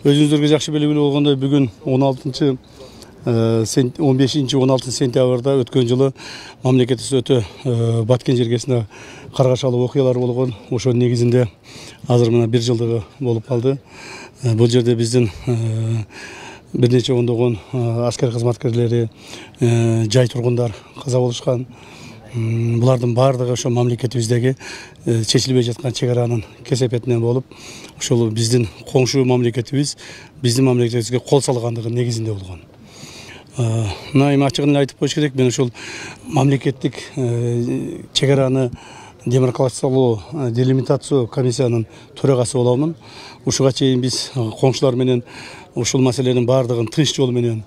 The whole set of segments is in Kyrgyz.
Өзүңүздөргө жакшы белгилүү болгондой бүгүн 15-16 сентябрда өткөн жылы мамлекетибиз өтө баткен жергесинде каргашалуу окуялар болгон. Ошо негизинде азыр мына 1 жылдыгы болуп калды. Бул жерде биздин бир нече ондогон аскер кызматкерлери, жай тургундар каза болушкан. Булардын баардыгы ошо мамлекетибиздеги чечилбей жаткан чек аранын кесепетинен болуп, ошол биздин коңшу мамлекетибиз биздин мамлекетибизге кол салгандыгы негизинде болгон. Мына эми ачыгын эле айтып коюш керек, мен ошол мамлекеттик чек араны демаркациялоо, делимитациялоо комиссиянын төрагасы боломун. Ушуга чейин биз коңшулар менен ушул маселенин баардыгын тынч жол менен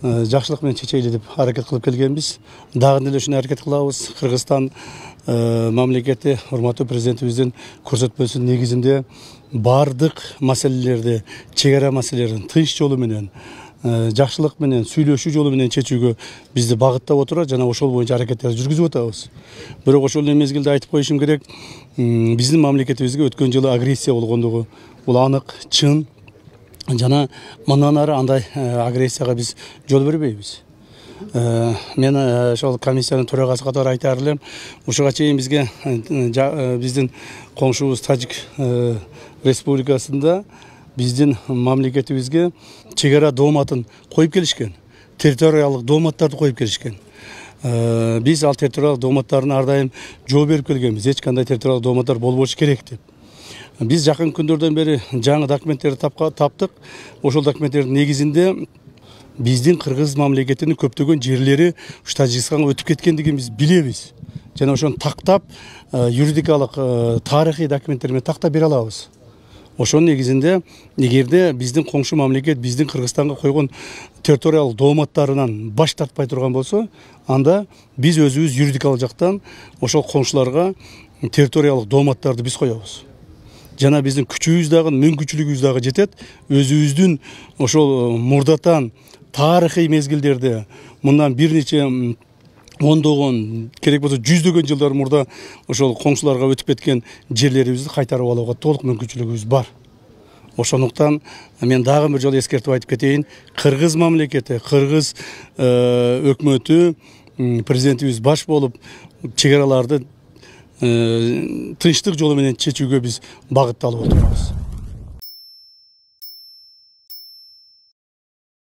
жакшылык менен чечели деп аракет кылып келгенбиз. Дагы деле ушуну аракет кылабыз. Кыргызстан мамлекети урматтуу президентибиздин көрсөтмөсүнүн негизинде баардык маселелерди, чек ара маселелерин тынч жолу менен, жакшылык менен, сүйлөшүү жолу менен чечүүгө бизди багыттап отурат жана ошол боюнча аракеттерди жүргүзүп атабыз. Бирок ошол эле мезгилде айтып коюшум керек, биздин мамлекетибизге өткөн жылы агрессия болгондугу бул анык, чын. Жана мындан ары андай агрессияга биз жол бербейбиз. Мен ошол комиссиянын төрагасы катары айтаар элем, ушуга чейин бизге биздин коңшубуз Тажик республикасында биздин мамлекетибизге чек ара дооматын коюп келишкен, территориялык дооматтарды коюп келишкен. Биз ал территориялык дооматтарына ар дайым жооп берип келгенбиз, эч кандай территориялык дооматтар болбошу керек деп. Биз жакын күндөрдөн бери жаңы документтерди таптык. Ошол документтердин негизинде биздин кыргыз мамлекетинин көптөгөн жерлери ушу Тажикстанга өтүп кеткендигин биз билебиз. Жана ошону тактап, юридикалык, тарыхый документтер менен тактап бере алабыз. Ошонун негизинде эгерде биздин коңшу мамлекет биздин Кыргызстанга койгон территориялык дооматтарынан баш тартпай турган болсо, анда биз өзүбүз юридикалык жактан ошол коңшуларга территориялык дооматтарды биз коебуз. Жана биздин күчүбүз дагы, мүмкүнчүлүгүбүз дагы жетет. Өзүбүздүн ошол мурдатан тарыхый мезгилдерде, мындан бир нече ондогон, керек болсо жүздөгөн жылдар мурда ошол коңшуларга өтүп кеткен жерлерибизди кайтарып алууга толук мүмкүнчүлүгүбүз бар. Ошондуктан мен дагы бир жолу эскертип айтып кетейин, кыргыз мамлекети, кыргыз өкмөтү, президентибиз баш болуп чек араларды тынчтык жолу менен чечүүгө биз багытталып отурабыз.